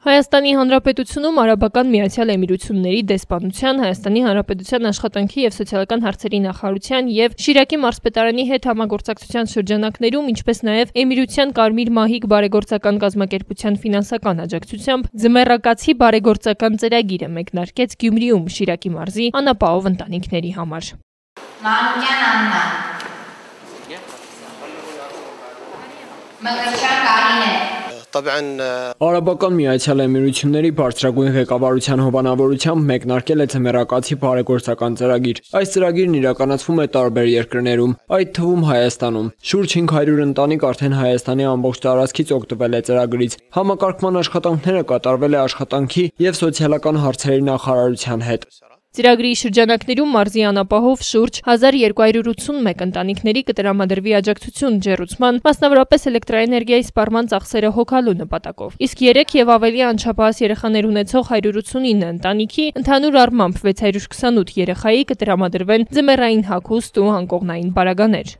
Հայաստանի Հանրապետությունում Արաբական Միացյալ Էմիրությունների դեսպանության, Հայաստանի Հանրապետության աշխատանքի և սոցիալական հարցերի նախարարության և Շիրակի մարզպետարանի հետ համագործակցության շրջանակներում, ինչպես նաև Էմիրության Կարմիր մահիկ բարեգործական կազմակերպության ֆինանսական աջակցությամբ ձմեռակացի բարեգործական ծրագիրը մեկնարկեց Գյումրիում Շիրակի մարզի անապահով ընտանիքների համար։ Մանուկյան Աննա, Մկրտչյան Կարինե, Արաբական Միացյալ Էմիրությունների բարձրագույն ղեկավարության հովանավորությամբ մեկնարկել է ձմեռակացի բարեգործական ծրագիր։ Այս ծրագիրն իրականացվում է տարբեր երկրներում, այդ թվում Հայաստանում։ Շուրջ 500 ընտանիք արդեն Հայաստանի ամբողջ տարածքից օգտվել է ծրագրից։ Համակարգման աշխատանքները կատարվել է աշխատանքի և սոցիալական հարցերի նախարարության հետ։ Ծրագրի շրջանակներում մարզի անապահով շուրջ 1281 ընտանիքների կտրամադրվի աջակցություն ջեռուցման, մասնավորապես էլեկտրաէներգիայի սպառման ծախսերը հոգալու նպատակով։ Իսկ 3 և ավելի անչափահաս երեխաներ ունեցող 189 ընտանիքի, ընդհանուր առմամբ 628 երեխայի կտրամադրվեն ձմեռային հագուստ ու անկողնային պարագաներ։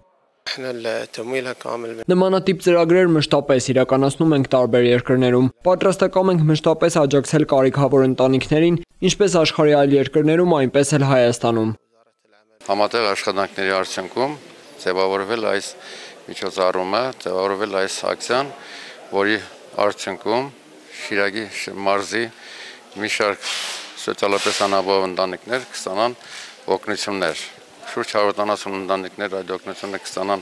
Նմանատիպ ծրագրեր մշտապես իրականացնում ենք տարբեր երկրներում։ Պատրաստակամ ենք մշտապես աջակցել կարիքավոր ընտանիքներին, ինչպես աշխարհի այլ երկրներում, այնպես էլ Հայաստանում։ Համատեղ աշխատանքների արդյունքում ձևավորվել այս միջոցառումը, ձևավորվել այս ակցիան, որի արդյունքում Շիրակի մարզի մի շարք սոցիալապես անապահով ընտանիքներ կստանան օգնություններ։ Շուրջ 170 ընտանիքներ այդ օգնությունը կստանան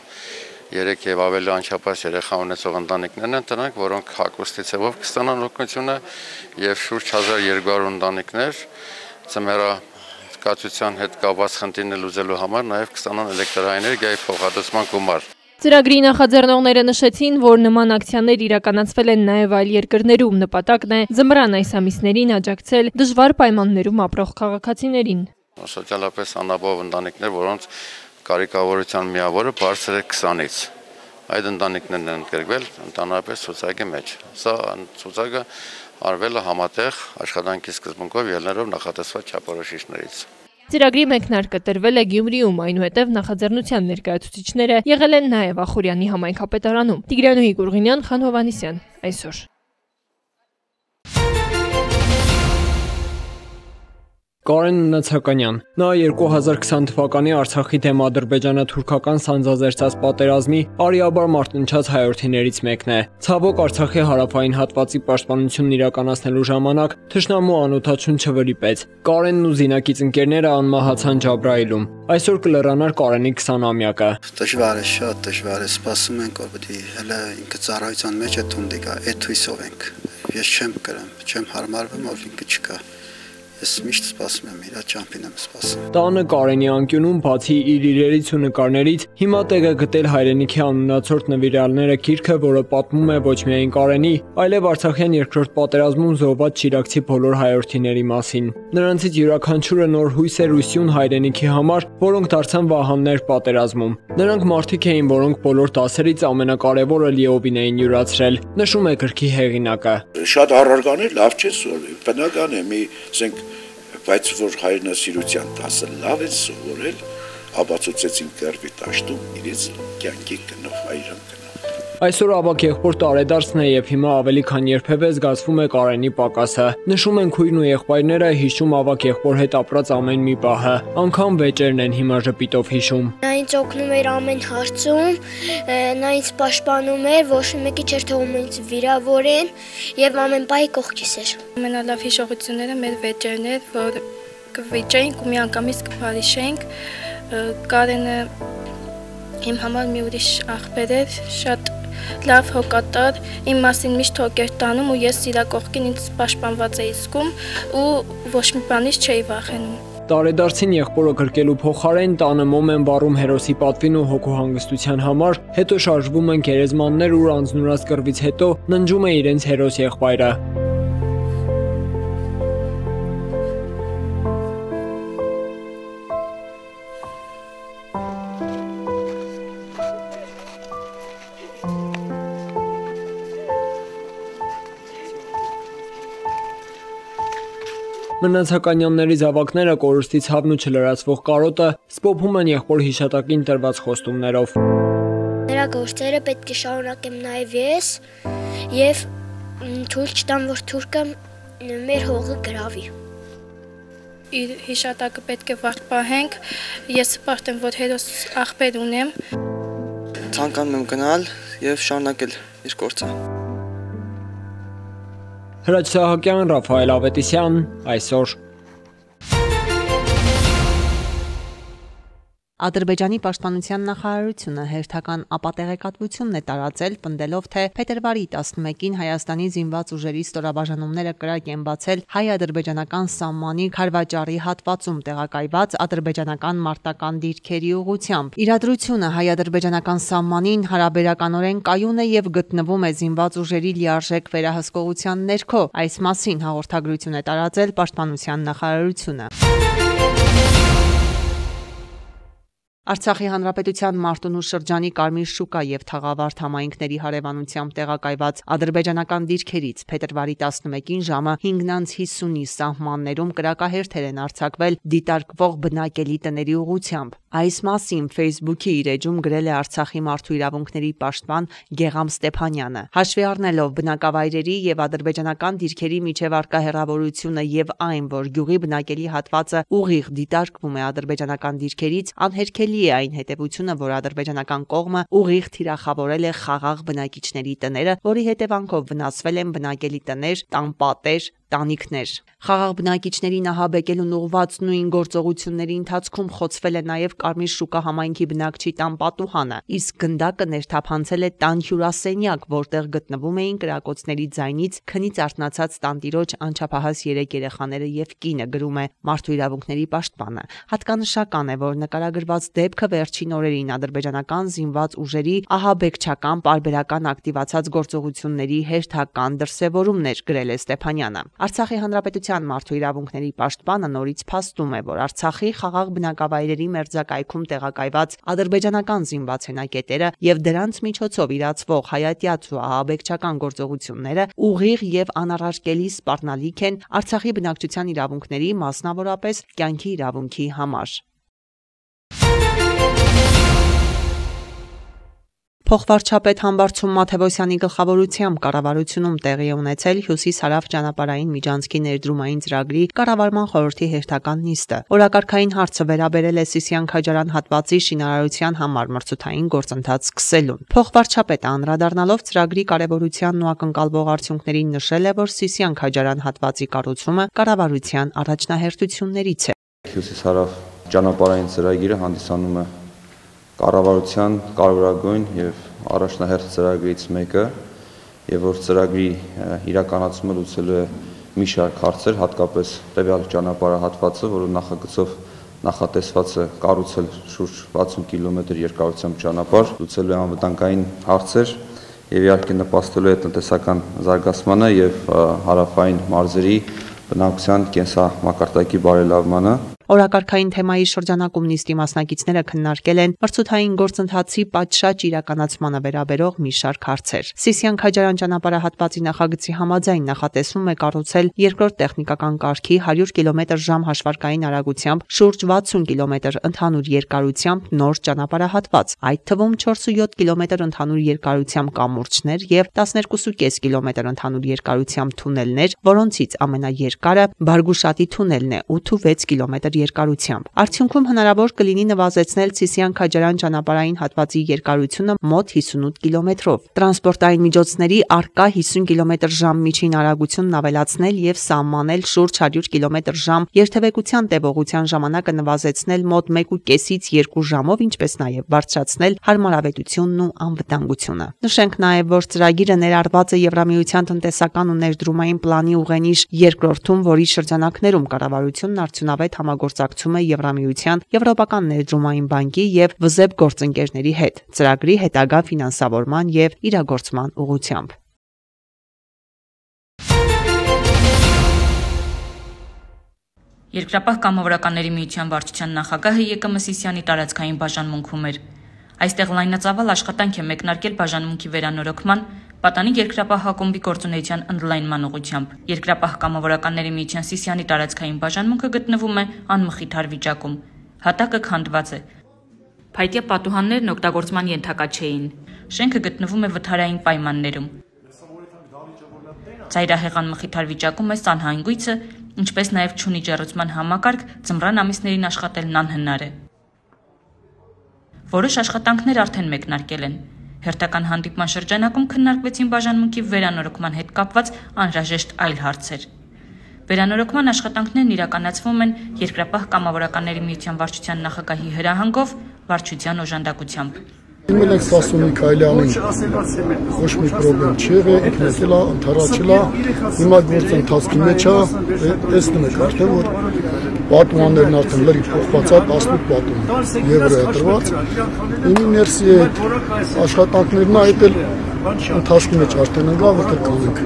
3 և ավելի անչափահաս երեխա ունեցող ընտանիքներն են դրանք, որոնք հագուստի ձևով կստանան օգնությունը, և շուրջ 1200 ընտանիքներ ձմեռակացության հետ կապված խնդիրներ լուծելու համար նաև կստանան էլեկտրաէներգիայի փոխհատուցման գումար։ Ծրագրի նախաձեռնողները նշեցին, որ նման ակցիաներ իրականացվել են նաև այլ երկրներում, նպատակն է ձմռան այս ամիսներին աջակցել դժվար պայմաններում ապրող քաղաքացիներին։ Սոցիալապես անապահով ընտանիքներ, որոնց կարիքավորության միավորը բարձր է 20-ից։ Այդ ընտանիքներն են ընդգրկվել ընդհանրապես ցուցակի մեջ։ Սա ցուցակը արվել է համատեղ աշխատանքի սկզբունքով ելնելով նախատեսված չափորոշիչներից։ Ծրագրի մեկնարկը տրվել է Գյումրիում, այնուհետև նախաձեռնության ներկայացուցիչները եղել են նաև Ախուրյանի համայնքապետարանում։ Տիգրանուհի Գուրգինյան, Խան Հովհաննիսյան, այսօր։ Կարեն Նացականյան, նա 2020 թվականի Արցախի դեմ ադրբեջանա-թուրքական սանձազերծած պատերազմի արիաբար մարտնչած հայրենիներից մեկն է։ Ցավոք Արցախի հարավային հատվածի պաշտպանությունն իրականացնելու ժամանակ թշնամու անօդաչուն չվրիպեց։ Կարենն ու զինակից ընկերները անմահացան Ջաբրայիլում։ Այսօր կլեռանար Կարենի 20-ամյակը։ Դժվար է, շատ դժվար է, սպասում ենք, որ պետք է հələ ինքը ծառայության մեջ է թունդի գա, այդ հույսով ենք։ Ես չեմ գրեմ, չեմ հարմարվում, որ ինքը չկա։ Ես միշտ սպասում եմ, իր ճամփին եմ սպասում։ Տանը Կարենի անկյունում, բացի իր իրերից ու նկարներից, հիմա տեղ է գտել հայրենիքի անունացորդ նվիրալները գիրքը, որը պատմում է ոչ միայն Կարենի, այլև Արցախյան երկրորդ պատերազմում զոհված շիրակցի բոլոր հայրենիների մասին։ Նրանցից յուրաքանչյուրը նոր հույս էր ու սյուն հայրենիքի համար, որոնք դարձան վահաններ պատերազմում։ Նրանք մարդիկ էին, որոնք բոլոր դասերից ամենակարևորը լիովին էին յուրացրել, նշում է գրքի հեղինակը։ Շատ առարգաներ լավ չէ սովորել, բնական է, բայց որ հայրենասիրության դասը լավ է սովորել, ապացուցեցին կերպի տաշտում իրենց կյանքի գնով հայրան գնով։ Այսօր ավագ եղբոր տարեդարձն է և հիմա ավելի քան երբևէ զգացվում է Կարենի պակասը։ Նշում են քույրն ու եղբայրները, հիշում ավագ եղբոր հետ ապրած ամեն մի պահը, անգամ վեճերն են հիմա ժպիտով հիշում։ Նա ինձ օգնում էր ամեն հարցում, նա ինձ պաշտպանում էր, ոչ մեկի չէր թողում ինձ վիրավորեն և ամեն պահի կողքիս էր։ Ամենալավ հիշողությունները մեր վեճերն էր, որ կվիճենք ու միանգամից կփարիշենք։ Կարենը իմ համար մի ուրիշ աղբեր էր, շատ լավ հոգատար, իմ մասին միշտ հոգ էր տանում ու ես իրա կողքին ինձ պաշտպանված էի զգում ու ոչ մի բանից չէի վախենում։ Տարեդարձին եղբորը գրկելու փոխարեն տանը մոմ են վառում հերոսի պատվին ու հոգու հանգստության համար, հետո շարժվում են գերեզմաններ, ուր անձնուրաց կռվից հետո ննջում է իրենց հերոս եղբայրը։ Մնացականյանների զավակները կորուստի ցավն ու չլրացվող կարոտը սփոփում են եղբոր հիշատակին տրված խոստումներով։ Նրա գործերը պետք է շարունակեմ նաև ես և թույլ չտան, որ թուրքը մեր հողը գրավի։ Իր հիշատակը պետք է վարդ պահենք, ես սպարտ եմ, որ հերոս աղբեր ունեմ։ Ցանկանում եմ գնալ եւ շարունակել իր գործը։ Հրաչ Սահակյան, Ռաֆայել Ավետիսյան, այսօր։ Ադրբեջանի պաշտպանության նախարարությունը հերթական ապատեղեկատվությունն է տարածել, պնդելով, թե փետրվարի 11-ին Հայաստանի զինված ուժերի ստորաբաժանումները կրակ են բացել հայ-ադրբեջանական սահմանի Խարվաճարի հատվածում տեղակայված ադրբեջանական մարտական դիրքերի ուղղությամբ։ Իրադրությունը հայ-ադրբեջանական սահմանին հարաբերականորեն կայուն է եւ գտնվում է զինված ուժերի լիարժեք վերահսկողության ներքո։ Այս մասին հաղորդագրություն է տարածել պաշտպանության նախարարությունը։ Արցախի հանրապետության Մարտունու շրջանի Կարմիր շուկա եւ Թաղավարտ համայնքների հարևանությամբ տեղակայված ադրբեջանական դիրքերից փետրվարի 11-ին ժամը 5:50-ի սահմաններում կրակահերթեր են արձակվել դիտարկվող բնակելի տների ուղղությամբ։ Այս մասին Facebook-ի իր էջում գրել է Արցախի մարդու իրավունքների պաշտպան Գեգամ Ստեփանյանը։ Հաշվի առնելով բնակավայրերի եւ ադրբեջանական դիրքերի միջև առկա հեռավորությունը եւ այն, որ գյուղի բնակելի հատվածը ուղիղ դիտարկվում է ադրբեջանական դիրքերից, անհերքելի է այն հետևությունը, որ ադրբեջանական կողմը ուղիղ թիրախավորել է խաղաղ բնակիչների տները, որի հետևանքով վնասվել են բնակելի տներ, տանպատեր, տանիքներ։ Խաղաղ բնակիչներին ահաբեկելուն ուղղված նույն գործողությունների ընթացքում խոցվել է նաև Կարմիր շուկա համայնքի բնակչի տան պատուհանը, իսկ գնդակը ներթափանցել է տան հյուրասենյակ, որտեղ գտնվում էին կրակոցների ձայնից քնից արթնացած տանտիրոջ անչափահաս 3 երեխաները եւ կինը, գրում է մարդու իրավունքների պաշտպանը։ Հատկանշական է, որ նկարագրված դեպքը վերջին օրերին ադրբեջանական զինված ուժերի ահաբեկչական պարբերական ակտիվացած գործողությունների հերթական դրսևորումն էր, գրել է Ստեփանյանը։ Արցախի հանրապետության մարդու իրավունքների պաշտպանը նորից փաստում է, որ Արցախի խաղաղ բնակավայրերի մերձակայքում տեղակայված ադրբեջանական զինված հենակետերը եւ դրանց միջոցով իրացվող հայատյաց ու ահաբեկչական գործողությունները ուղիղ եւ անառարկելի սպառնալիք են Արցախի բնակչության իրավունքների, մասնավորապես կյանքի իրավունքի համար։ Փոխվարչապետ Համբարձում Մաթևոսյանի գլխավորությամբ կառավարությունում տեղի է ունեցել Հյուսիս-Հարավ ճանապարհային միջանցքի ներդրումային ծրագրի կառավարման խորհրդի հերթական նիստը։ Օրակարգային հարցը վերաբերել է Սիսիան-Քաջարյան հատվածի շինարարության համար մրցութային գործընթաց սկսելուն։ Փոխվարչապետը անդրադառնալով ծրագրի կարևորությանն ու ակնկալվող արդյունքներին նշել է, որ Սիսիան-Քաջարյան հատվածի կառուցումը կառավարության առաջնահերթություններից է։ Հյուսիս-Հարավ ճանապարհային ծրագիրը հանդիսանում է կառավարության կարևորագույն եւ առաջնահերթ ծրագրից մեկը, եւ որ ծրագրի իրականացումը լուծելու է մի շարք հարցեր, հատկապես տվյալ ճանապարհահատվածը, որը նախագծով նախատեսված է կառուցել շուրջ 60 կիլոմետր երկարությամբ ճանապարհ, լուծելու է անվտանգային հարցեր եւ իհարկե նպաստելու է տնտեսական զարգացմանը եւ հարավային մարզերի բնակության կենսամակարդակի բարելավմանը։ Օրակարգային թեմայի շրջանակում նիստի մասնակիցները քննարկել են մրցութային գործընթացի պատշաճ իրականացմանը վերաբերող մի շարք հարցեր։ Սիսիան-Քաջարյան ճանապարհահատվածի նախագծի համաձայն նախատեսվում է կառուցել երկրորդ տեխնիկական կարգի 100 կմ/ժ հաշվարկային արագությամբ շուրջ 60 կմ ընդհանուր երկարությամբ նոր ճանապարհահատված, այդ թվում 4.7 կմ ընդհանուր երկարությամբ կամուրջներ եւ 12.5 կմ ընդհանուր երկարությամբ թունելներ, որոնցից ամենաերկարը Բարգուշատի թունելն է 8.6 կմ երկարությամբ։ Արդյունքում հնարավոր կլինի նվազեցնել Սիսիան-Քաջարյան ճանապարհային հատվածի երկարությունը մոտ 58 կիլոմետրով, տրանսպորտային միջոցների առկա 50 կմ/ժ միջին արագությունն ավելացնել եւ սահմանել շուրջ 100 կմ/ժ երթևեկության տևողության ժամանակը նվազեցնել մոտ 1.5-ից 2 ժամով, ինչպես նաեւ բարձրացնել հարմարավետությունն ու անվտանգությունը։ Նշենք նաեւ, որ ծրագիրը ներառված է Եվրամիության տնտեսական ու ներդրումային պլանի ուղենիշ երկրորդում, որի շրջանակներում կառավարությունն արդյունավետ համագործակցում է Եվրամիության, Եվրոպական ներդրումային բանկի եւ ՎԶԵԲ գործընկերների հետ ծրագրի հետագա ֆինանսավորման եւ իրագործման ուղղությամբ։ Երկրապահ կամավորականների միության վարչության նախագահը ԵԿՄ Սիսիանի տարածքային բաժանմունքում էր։ Այստեղ լայնածավալ աշխատանք է մեկնարկել բաժանմունքի վերանորոգման, պատանի երկրապահ հակումբի գործունեության ընդլայնման ուղղությամբ։ Երկրապահ կամավորականների միության Սիսիանի տարածքային բաժանմունքը գտնվում է անմխիթար վիճակում։ Հատակը քանդված է։ Փայտյա պատուհաններն օգտագործման ենթակա չէին։ Շենքը գտնվում է վթարային պայմաններում։ Ծայրահեղան մխիթար վիճակում է սանհանգույցը, ինչպես նաև չունի ջեռուցման համակարգ, ձմռան ամիսներին աշխատելն անհնար է։ Որոշ աշխատանքներ արդեն մեկնարկել են։ Հերթական հանդիպման շրջանակում քննարկվեցին բաժանմունքի վերանորոգման հետ կապված անհրաժեշտ այլ հարցեր։ Վերանորոգման աշխատանքներն իրականացվում են Երկրապահ կամավորականների միության վարչության նախագահի հրահանգով, վարչության օժանդակությամբ։ Իմել ենք Սասուն Միքայելյանին, ոչ մի պրոբլեմ չի եղել, ինքնեցել է, ընդառաջել է, հիմա գործ ընթացքի մեջ է, տեսնում եք արդեն, որ պատումաններն արդեն լրիվ փոխված է, 18 պատուման եվրո է տրված, իմի ներսի այդ աշխատանքներն այդ էլ ընթացքի մեջ արդեն ընկավ, որտեղ կանենք։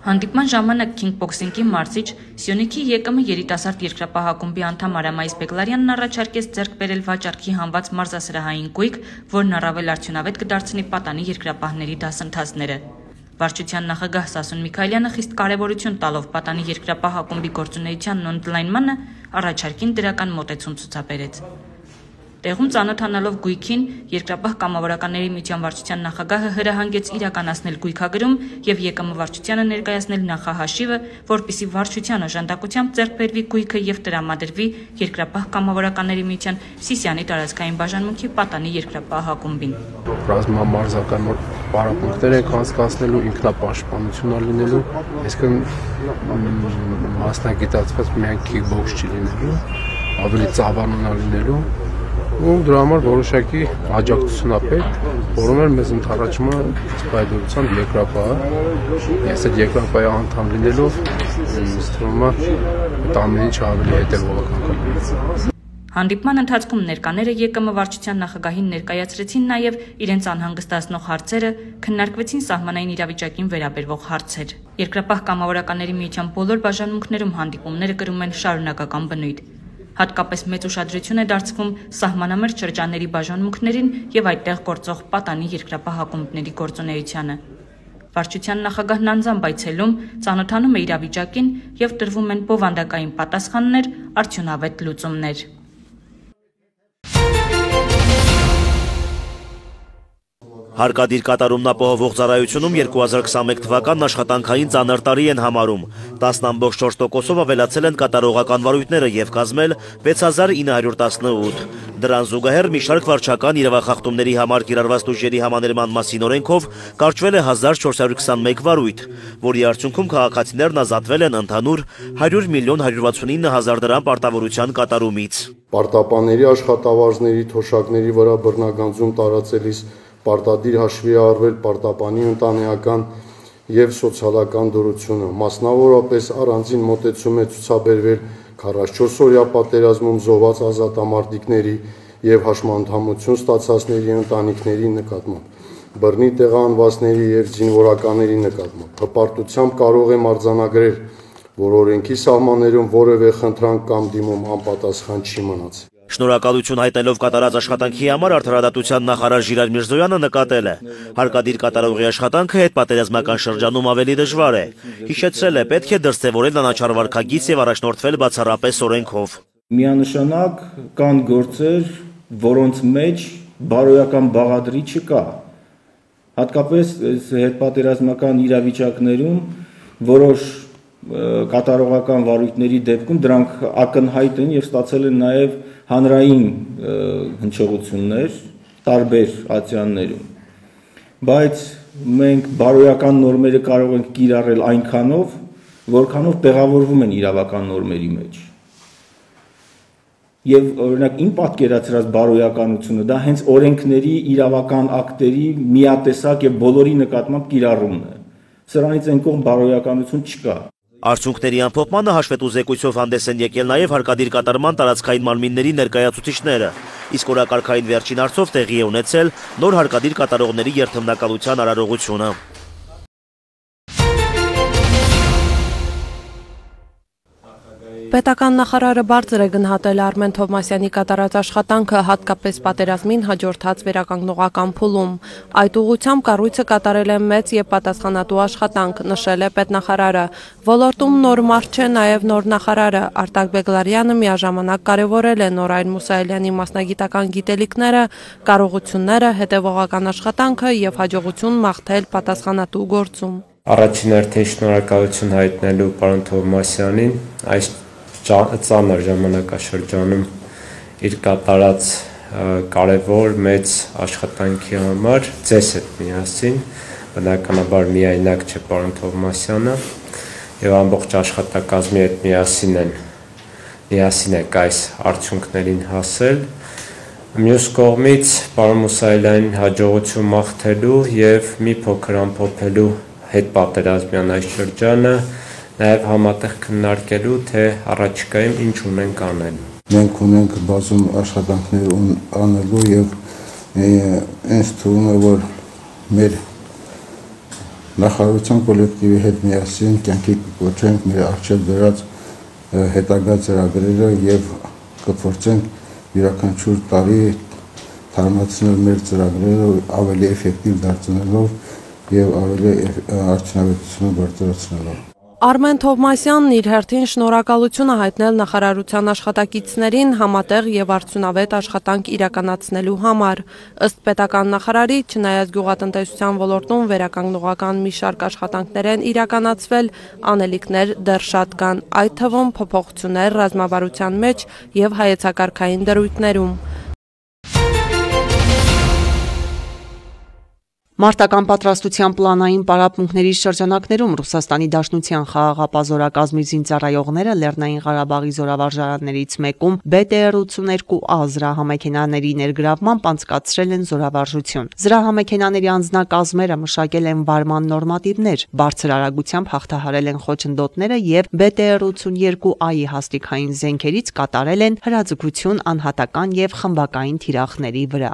Հանդիպման ժամանակ քինգբոքսինգի մարզիչ Սյունիքի ԵԿՄ երիտասարդ երկրապահ ակումբի անդամ Արամայիս Բեգլարյանն առաջարկեց ձեռք բերել վաճառքի հանված մարզասրահային գույք, որն առավել արդյունավետ կդարձնի պատանի երկրապահների դասընթացները։ Վարչության նախագահ Սասուն Միքայելյանը խիստ կարևորություն տալով պատանի երկրապահ ակումբի գործունեությանն ու ընդլայնմանը առաջարկին դրական մոտեցում ցուցաբերեց։ Տեղում ծանոթանալով գույքին, Երկրապահ կամավորականների միության վարչության նախագահը հրահանգեց իրականացնել գույքագրում եւ ԵԿՄ վարչությանը ներկայացնել նախահաշիվը, որպիսի վարչության օժանդակությամբ ձեռք բերվի գույքը եւ տրամադրվի Երկրապահ կամավորականների միության Սիսիանի տարածքային բաժանմունքի պատանի Երկրապահ ակումբին։ Ռազմամարզական պարապմունքներ ենք անցկացնելու, ինքնապաշտպանություն լինելու, այսինքն մասնագիտացված միայն քիքբոքս չի լինելու, ավելի ծավալուն լինելու։ ու դրա համար որոշակի աջակցություն է պետք, որում էլ մեզ ընդառաջում է սպայդորությամբ երկրապահը։ Ես այդ երկրապահի անդամ լինելով ստվում է տամենի ավելի հետևողական կլինի։ Հանդիպման ընթացքում ներկաները ԵԿՄ վարչության նախագահին ներկայացրեցին նաև իրենց անհանգստացնող հարցերը, քննարկվեցին սահմանային իրավիճակին վերաբերող հարցեր։ Երկրապահ կամավորականների միության բոլոր բաժանմունքներում հանդիպումները կրում են շարունակական բնույթ։ Հատկապես մեծ ուշադրություն է դարձվում սահմանամերձ շրջանների բաժանմունքներին եւ այդտեղ գործող պատանի երկրապահ ակումբների գործունեությանը։ Վարչության նախագահն անձամբ այցելում, ծանոթանում է իրավիճակին եւ տրվում են բովանդակային պատասխաններ, արդյունավետ լուծումներ։ Հարկադիր կատարումն ապահովող ծառայությունում 2021 թվականն աշխատանքային ծանր տարի են համարում։ 10.4%-ով ավելացել են կատարողական վարույթները եւ կազմել 6918։ Դրան զուգահեռ մի շարք վարչական իրավախախտումների համար կիրառված ուժերի համաներման մասին օրենքով կարճվել է 1421 վարույթ, որի արդյունքում քաղաքացիներն ազատվել են ընդհանուր 100 միլիոն 169 հազար դրամ պարտավորության կատարումից։ Պարտապանների աշխատավարձների թոշակների վրա բռնագանձում տարածելիս պարտադիր հաշվի առվել պարտապանի ընտանեկան եւ սոցիալական դրությունը, մասնավորապես առանձին մոտեցում է ցուցաբերվել 44-օրյա պատերազմում զոհված ազատամարտիկների եւ հաշմանդամություն ստացածների ընտանիքների նկատմամբ, բռնի տեղահանվածների եւ զինվորականների նկատմամբ։ Հպարտությամբ կարող եմ արձանագրել, որ օրենքի սահմաններում որևէ խնդրանք կամ դիմում անպատասխան չի մնացել։ Շնորհակալություն հայտնելով կատարած աշխատանքի համար արդարադատության նախարար Ժիրայր Միրզոյանը նկատել է. հարկադիր կատարողի աշխատանքը հետպատերազմական շրջանում ավելի դժվար է։ Հիշեցրել է, պետք է դրսևորել անաչառ վարքագիծ եւ առաջնորդվել բացառապես օրենքով։ Միանշանակ կան գործեր, որոնց մեջ բարոյական բաղադրի չկա։ Հատկապես հետպատերազմական իրավիճակներում որոշ կատարողական վարույթների դեպքում դրանք ակնհայտ են եւ ստացել են նաեւ հանրային հնչողություններ տարբեր ատյաններում, բայց մենք բարոյական նորմերը կարող ենք կիրառել այնքանով, որքանով տեղավորվում են իրավական նորմերի մեջ։ Եվ օրինակ իմ պատկերացրած բարոյականությունը դա հենց օրենքների, իրավական ակտերի միատեսակ եւ բոլորի նկատմամբ կիրառումն է։ Սրանից այն կողմ բարոյականություն չկա։ Արդյունքների ամփոփմանը հաշվետու զեկույցով հանդես են եկել նաև հարկադիր կատարման տարածքային մարմինների ներկայացուցիչները, իսկ օրակարգային վերջին հարցով տեղի է ունեցել նոր հարկադիր կատարողների երթմնակալության արարողությունը։ Պետական նախարարը բարձր է գնահատել Արմեն Թովմասյանի կատարած աշխատանքը հատկապես պատերազմին հաջորդած վերականգնողական փուլում։ Այդ ուղղությամբ կառույցը կատարել է մեծ եւ պատասխանատու աշխատանք, նշել է պետնախարարը։ Ոլորտում նոր մարդ չէ նաեւ նոր նախարարը Արտակ Բեգլարյանը միաժամանակ կարևորել է Նորային Մուսայելյանի մասնագիտական գիտելիքները, կարողությունները, հետևողական աշխատանքը եւ հաջողություն մաղթել պատասխանատու գործում։ Առաջին հերթին շնորհակալություն հայտնելու պարոն Թովմասյանին այս ծանր ժամանակաշրջանում իր կատարած կարևոր մեծ աշխատանքի համար ձեզ հետ միասին, բնականաբար միայնակ չէ պարոն Թովմասյանը եւ ամբողջ աշխատակազմի հետ միասին եք այս արդյունքներին հասել։ Մյուս կողմից պարոն Մուսայելյանին հաջողություն մաղթելու եւ մի փոքր ամփոփելու հետպատերազմյան այս շրջանը, նաև համատեղ քննարկելու, թե առաջիկայում ինչ ունենք անել։ Մենք ունենք բազում աշխատանքներ անելու եւ ինձ թվում է, որ մեր նախարարության կոլեկտիվի հետ միասին կյանքի կոչենք մեր առջև դրած հետագա ծրագրերը եւ կփորձենք յուրաքանչյուր տարի թարմացնել մեր ծրագրերը ավելի էֆեկտիվ դարձնելով եւ ավելի արդյունավետությունը բարձրացնելով։ Արմեն Թովմասյանն իր հերթին շնորհակալություն է հայտնել նախարարության աշխատակիցներին համատեղ եւ արդյունավետ աշխատանք իրականացնելու համար։ Ըստ պետական նախարարի, չնայած գյուղատնտեսության ոլորտում վերականգնողական մի շարք աշխատանքներ են իրականացվել, անելիքներ դեռ շատ կան, այդ թվում փոփոխություններ ռազմավարության մեջ եւ հայեցակարգային դրույթներում։ Մարտական պատրաստության պլանային պարապմունքների շրջանակներում Ռուսաստանի Դաշնության խաղաղապազորակազմի զինծառայողները Լեռնային Ղարաբաղի զորավարժարաններից մեկում BTR-82A զրահամեքենաների ներգրավմամբ անցկացրել են զորավարժություն։ Զրահամեքենաների անձնակազմերը մշակել են վարման նորմատիվներ, բարձր արագությամբ հաղթահարել են խոչընդոտները եւ BTR-82A-ի հաստիքային զենքերից կատարել են հրաձգություն անհատական եւ խմբակային թիրախների վրա։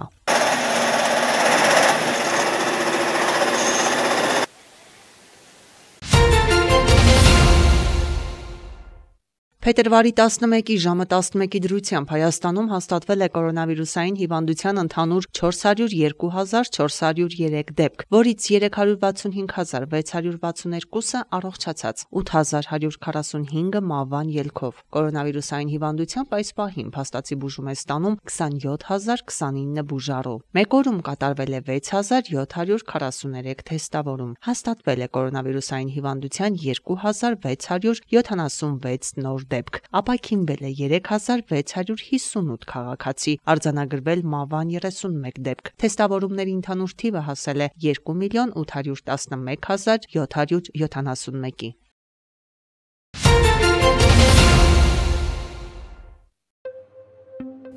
Փետրվարի 11-ի ժամը 11-ի դրությամբ Հայաստանում հաստատվել է կորոնավիրուսային հիվանդության ընդհանուր 402,403 դեպք, որից 365,662-ը առողջացած, 8,145-ը մահվան ելքով։ Կորոնավիրուսային հիվանդությամբ այս պահին փաստացի բուժում է ստանում 27,029 բուժառու։ Մեկ օրում կատարվել է 6,743 թեստավորում։ Հաստատվել է կորոնավիրուսային հիվանդության 2,676 նոր դեպք, ապաքինվել է 3658 քաղաքացի, արձանագրվել մահվան 31 դեպք։ Թեստավորումների ընդհանուր թիվը հասել է 2,811,771-ի։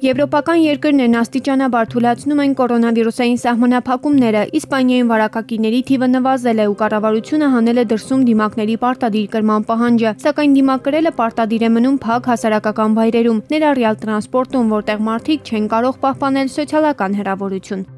Եվրոպական երկրներն աստիճանաբար թուլացնում են կորոնավիրուսային սահմանափակումները, Իսպանիայում վարակակիների թիվը նվազել է ու կառավարությունը հանել է դրսում դիմակների պարտադիր կրման պահանջը, սակայն դիմակ կրելը պարտադիր է մնում փակ հասարակական վայրերում, ներառյալ տրանսպորտում, որտեղ մարդիկ չեն կարող պահպանել սոցիալական հեռավորություն։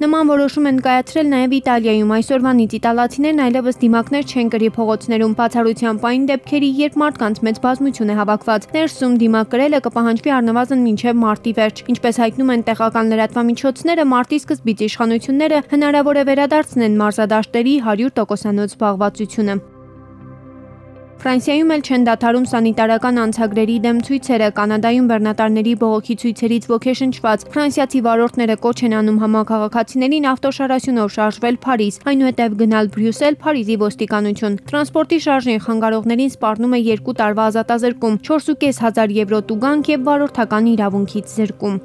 Նման որոշում են կայացրել նաև Իտալիայում, այսօրվանից իտալացիներն այլևս դիմակներ չեն կրի փողոցներում, բացառությամբ այն դեպքերի, երբ մարդկանց մեծ բազմություն է հավաքված։ Ներսում դիմակ կրելը կպահանջվի առնվազն մինչև մարտի վերջ։ Ինչպես հայտնում են տեղական լրատվամիջոցները, մարտի սկզբից իշխանությունները հնարավոր է վերադարձնեն մարզադաշտերի 100%-անոց զբաղվածությունը։ Ֆրանսիայում էլ չեն դադարում սանիտարական անցագրերի դեմ ցույցերը, Կանադայում բեռնատարների բողոքի ցույցերից ոգեշնչված ֆրանսիացի վարորդները կոչ են անում համակարգացիներին ավտոշարասյունով շարժվել Փարիզ, այնուհետև գնալ Բրյուսել, Փարիզի ոստիկանություն։ Տրանսպորտի շարժին խանգարողներին սպառնում է 2 տարվա ազատազրկում, 4,500 եվրո տուգանք եւ վարորդական իրավունքից զրկում։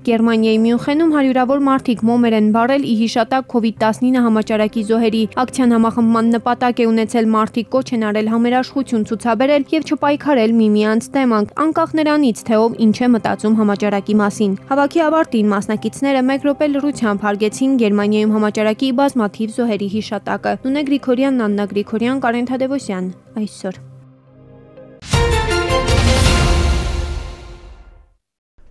Գերմանիայի Մյունխենում հարյուրավոր մարդիկ մոմեր են վառել ի հիշատակ COVID-19 համաճարակի զոհերի։ Ակցիան համախմբման նպատակ է ունեցել, մարդիկ կոչ են արել համերաշխություն ցուցաբերել եւ չպայքարել միմյանց դեմ, անկախ նրանից, թե ով ինչ է մտածում համաճարակի մասին։ Հավաքի ավարտին մասնակիցները 1 րոպե լռությամբ հարգեցին Գերմանիայում համաճարակի բազմաթիվ զոհերի հիշատակը։ Նունե Գրիգորյան, Աննա Գրիգորյան, Կարեն Թադևոսյան, այսօր։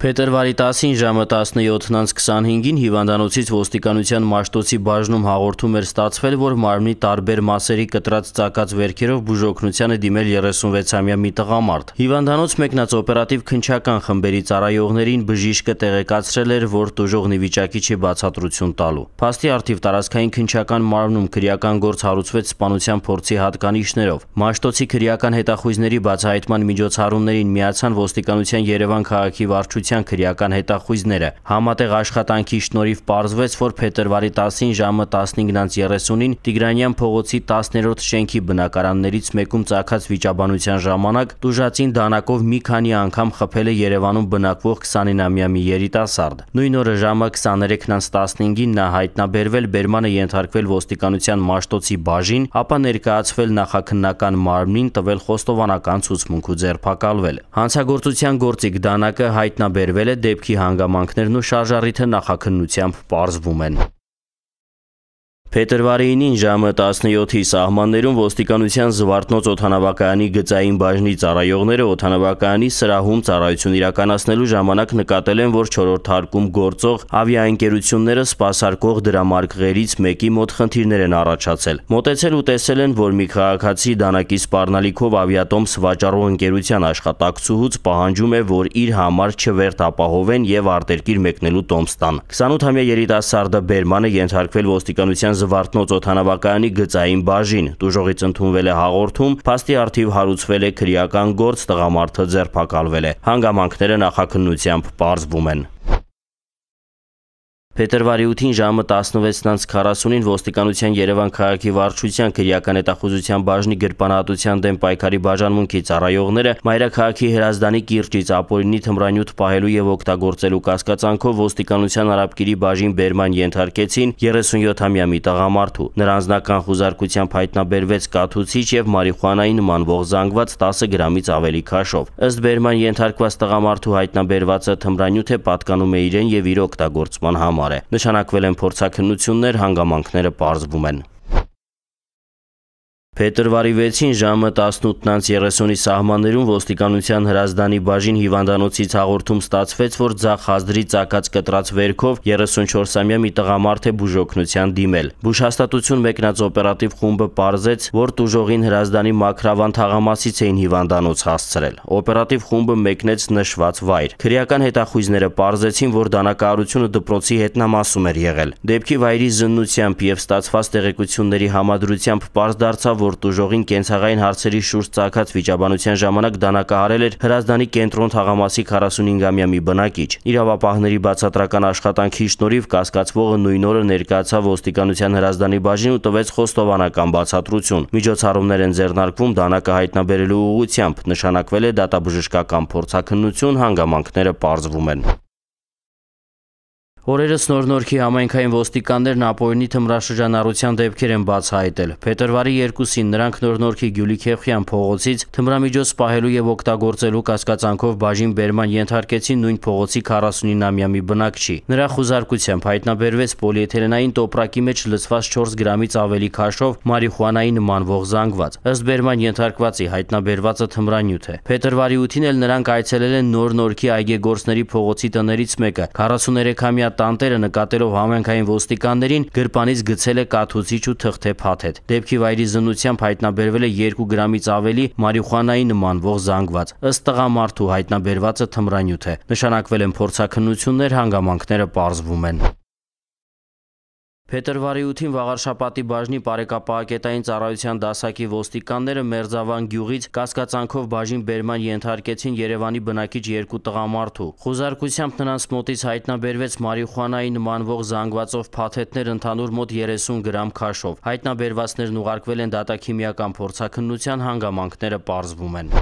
Փետրվարի 10-ին ժամը 17:25-ին հիվանդանոցից ոստիկանության Մաշտոցի բաժնում հաղորդում էր ստացվել, որ մարմնի տարբեր մասերի կտրած ծակած վերքերով բուժօգնության է դիմել 36-ամյա մի տղամարդ։ Հիվանդանոց մեկնած օպերատիվ քննչական խմբերի ծառայողներին բժիշկը տեղեկացրել էր, որ տուժողն ի վիճակի չի բացատրություն տալու։ Փաստի առթիվ տարածքային քննչական մարմնում քրեական գործ հարուցվեց սպանության փորձի հատկանիշներով։ Մաշտոցի քրեական հետախույզների բացահայտման միջոցառումներին միացան ոստիկանության Երևան քաղաքի վարչության ոստիկանության քրեական հետախույզները։ Համատեղ աշխատանքի շնորհիվ պարզվեց, որ փետրվարի 10-ին ժամը 15:30-ին Տիգրանյան փողոցի 10-րդ շենքի բնակարաններից մեկում ծագած վիճաբանության ժամանակ տուժածին դանակով մի քանի անգամ խփել է Երևանում բնակվող 29-ամյա մի երիտասարդ։ Նույն օրը ժամը 23:15-ին նա հայտնաբերվել, բերմանը ենթարկվել ոստիկանության Մաշտոցի բաժին, ապա ներկայացվել նախաքննական մարմնին, տվել խոստովանական ցուցմունք ու ձերբակալվել։ Հանցագործության գործիք դանակը հայտնաբերվել է, դեպքի հանգամանքներն ու շարժառիթը նախաքննությամբ պարզվում են։ Փետրվարի 9-ին ժամը 17-ի սահմաններում ոստիկանության Զվարթնոց օդանավակայանի գծային բաժնի ծառայողները օդանավակայանի սրահում ծառայություն իրականացնելու ժամանակ նկատել են, որ 4-րդ հարկում գործող ավիաընկերությունները սպասարկող դրամարկղերից մեկի մոտ խնդիրներ են առաջացել։ Մոտեցել ու տեսել են, որ մի քաղաքացի դանակի սպառնալիքով ավիատոմս վաճառող ընկերության աշխատակցուհուց պահանջում է, որ իր համար չվերթ ապահովեն եւ արտերկիր մեկնելու տոմս տան։ 28-ամյա երիտասարդը բերմանը ենթարկվել ոստիկանության Զվարթնոց օդանավակայանի գծային բաժին, տուժողից ընդունվել է հաղորդում, փաստի առթիվ հարուցվել է քրեական գործ, տղամարդը ձերբակալվել է։ Հանգամանքները նախաքննությամբ պարզվում են։ Փետրվարի 8-ին ժամը 16:40-ին ոստիկանության Երևան քաղաքի վարչության քրեական հետախուզության բաժնի գրպանահատության դեմ պայքարի բաժանմունքի ծառայողները մայրաքաղաքի Հրազդանի կիրճից ապօրինի թմրանյութ պահելու եւ օգտագործելու կասկածանքով ոստիկանության Արաբկիրի բաժին բերման ենթարկեցին 37-ամյա մի տղամարդու։ Նրա անձնական խուզարկությամբ հայտնաբերվեց կաթուցիչ եւ մարիխուանայի նմանվող զանգված 10 գրամից ավելի քաշով։ Ըստ բերման ենթարկված տղամարդու հայտնաբերվածը թմրանյութ է, պատկանում է իրեն եւ իր օգտագործման համար։ Նշանակվել են փորձաքննություններ, հանգամանքները պարզվում են։ Փետրվարի 6-ին ժամը 18:30-ի սահմաններում ոստիկանության Հրազդանի բաժին հիվանդանոցից հաղորդում ստացվեց, որ ձախ հազդրի ծակած կտրած վերքով 34-ամյա մի տղամարդ է բուժօգնության դիմել։ Բուժհաստատություն մեկնած օպերատիվ խումբը պարզեց, որ տուժողին Հրազդանի Մաքրավան թաղամասից էին հիվանդանոց հասցրել։ Օպերատիվ խումբը մեկնեց նշված վայր։ Քրեական հետախույզները պարզեցին, որ դանակահարությունը դպրոցի հետնամասում էր եղել։ Դեպքի վայրի զննությամբ եւ ստացված տեղեկությունների համադրությամբ պարզ դարձավ, որ տուժողին կենցաղային հարցերի շուրջ ծագած վիճաբանության ժամանակ դանակահարել էր Հրազդանի կենտրոն թաղամասի 45-ամյա մի բնակիչ։ Իրավապահների բացատրական աշխատանքի շնորհիվ կասկածվողը նույն օրը ներկայացավ ոստիկանության Հրազդանի բաժին ու տվեց խոստովանական բացատրություն։ Միջոցառումներ են ձեռնարկվում դանակը հայտնաբերելու ուղղությամբ, նշանակվել է դատաբժշկական փորձաքննություն, հանգամանքները պարզվում են։ Օրերս Նոր-Նորքի համայնքային ոստիկաններն ապօրինի թմրաշրջանառության դեպքեր են բացահայտել։ Փետրվարի 2-ին նրանք Նոր-Նորքի Գյուլիքեփխյան փողոցից թմրամիջոց պահելու եւ օգտագործելու կասկածանքով բաժին բերման ենթարկեցին նույն փողոցի 49-ամյա մի բնակչի։ Նրա խուզարկությամբ հայտնաբերվեց պոլիէթիլենային տոպրակի մեջ լցված 4 գրամից ավելի քաշով մարիխուանայի նմանվող զանգված։ Ըստ բերման ենթարկվածի հայտնաբերվածը թմրանյութ է։ Փետրվարի 8-ին էլ նրանք այցելել են Նոր-Նորքի այգեգործների փողոցի տներից մեկը։ 43-ամյա տանտերը նկատելով համայնքային ոստիկաններին գրպանից գցել է կաթուցիչ ու թղթե փաթեթ։ Դեպքի վայրի զննությամբ հայտնաբերվել է 2 գրամից ավելի մարիխուանայի նմանվող զանգված։ Ըստ տղամարդու հայտնաբերվածը թմրանյութ է։ Նշանակվել են փորձաքննություններ, հանգամանքները պարզվում են։ Փետրվարի 8-ին Վաղարշապատի բաժնի Պարեկապահակետային ծառայության դասակի ոստիկանները Մերձավան գյուղից կասկածանքով բաժին բերման ենթարկեցին Երևանի բնակիչ 2 տղամարդու։ Խուզարկությամբ նրանց մոտից հայտնաբերվեց մարիխուանայի նմանվող զանգվածով փաթեթներ ընդհանուր մոտ 30 գրամ քաշով։ Հայտնաբերվածներն ուղարկվել են դատաքիմիական փորձաքննության, հանգամանքները պարզվում են։